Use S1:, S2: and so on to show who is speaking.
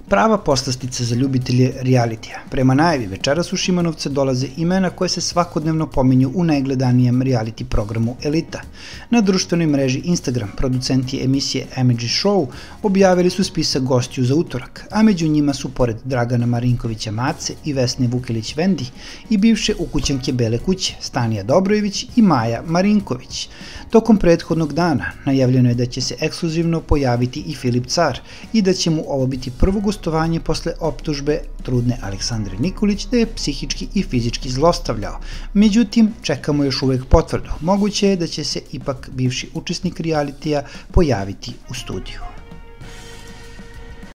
S1: Prava poslastica za ljubitelje realitija. Prema najavi, večeras u Šimanovce dolaze imena koje se svakodnevno pominju u najgledanijem reality programu Elita. Na društvenoj mreži Instagram producenti emisije Amidži Show objavili su spisak gostiju za utorak, a među njima su pored Dragana Marinkovića Mace i Vesne Vukelić Vendi i bivše ukućanke Bele kuće Stanija Dobrojević i Maja Marinković. Tokom prethodnog dana najavljeno je da će se ekskluzivno pojaviti i Filip Car i da će mu ovo biti prvo gostovanje posle optužbe trudne Aleksandre Nikolić da je psihički i fizički zlostavljao. Međutim, čekamo još uvek potvrdu. Moguće je da će se ipak bivši učesnik realitija pojaviti u studiju.